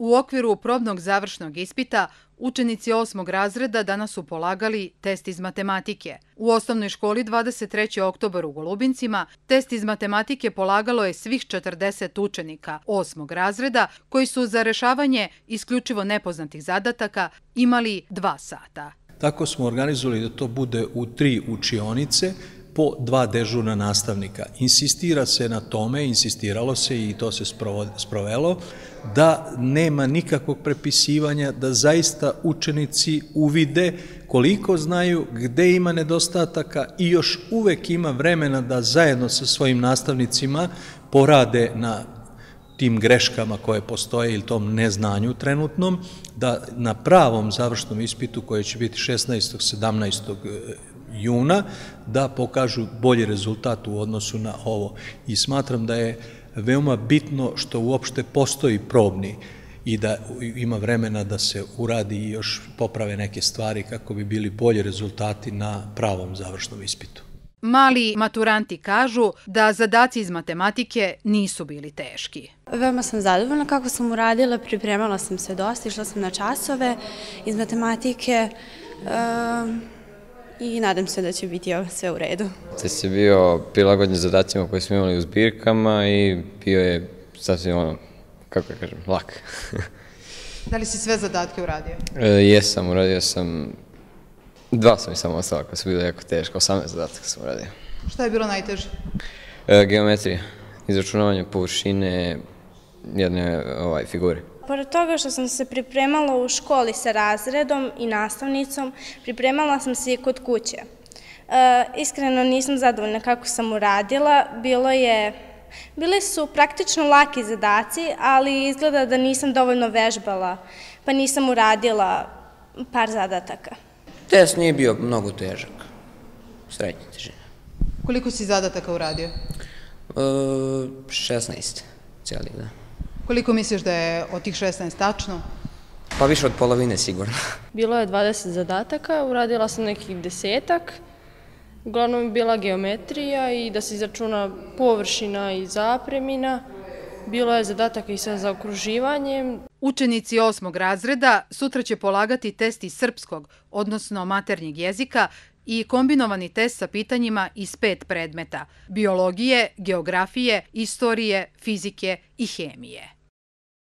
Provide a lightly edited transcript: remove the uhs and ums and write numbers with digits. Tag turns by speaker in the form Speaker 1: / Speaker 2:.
Speaker 1: U okviru probnog završnog ispita učenici 8. razreda danas su polagali test iz matematike. U osnovnoj školi 23. oktobar u Golubincima test iz matematike polagalo je svih 40 učenika 8. razreda koji su za rešavanje isključivo nepoznatih zadataka imali 2 sata.
Speaker 2: Tako smo organizovali da to bude u 3 učionice po 2 dežurna nastavnika. Insistira se na tome, insistiralo se i to se sprovelo, da nema nikakvog prepisivanja, da zaista učenici uvide koliko znaju, gde ima nedostataka i još uvek ima vremena da zajedno sa svojim nastavnicima porade na tim greškama koje postoje ili tom neznanju trenutnom, da na pravom završnom ispitu koje će biti 16. 17. juna, da pokažu bolji rezultat u odnosu na ovo. I smatram da je veoma bitno što uopšte postoji probni i da ima vremena da se uradi i još poprave neke stvari kako bi bili bolji rezultati na pravom završnom ispitu.
Speaker 1: Mali maturanti kažu da zadaci iz matematike nisu bili teški.
Speaker 3: Veoma sam zadovoljna kako sam uradila, pripremala sam se dosta, išla sam na časove iz matematike i nadam se da će biti sve u redu.
Speaker 4: Test je bio prilagođen zadacima koje smo imali u zbirkama i bio je sasvim lak.
Speaker 1: Da li si sve zadatke uradio?
Speaker 4: Jesam, uradio sam 2 sam i samo ostala koja su bile jako teška, 18 zadataka sam uradio.
Speaker 1: Šta je bilo najteže?
Speaker 4: Geometrija, izračunavanje površine jedne figure.
Speaker 5: Pored toga što sam se pripremala u školi sa razredom i nastavnicom, pripremala sam se i kod kuće. Iskreno nisam zadovoljna kako sam uradila, bili su praktično laki zadaci, ali izgleda da nisam dovoljno vežbala, pa nisam uradila par zadataka.
Speaker 6: Test nije bio mnogo težak, srednje težine.
Speaker 1: Koliko si zadataka uradio?
Speaker 6: 16 cijeli, da.
Speaker 1: Koliko misliš da je od tih 16 tačno?
Speaker 6: Pa više od polovine sigurno.
Speaker 7: Bilo je 20 zadataka, uradila sam nekih 10-ak. Uglavnom je bila geometrija i da se izračuna površina i zapremina. Bilo je zadataka i sa zaokruživanjem.
Speaker 1: Učenici 8. razreda sutra će polagati test iz srpskog, odnosno maternjeg jezika, i kombinovani test sa pitanjima iz 5 predmeta: biologije, geografije, istorije, fizike i hemije.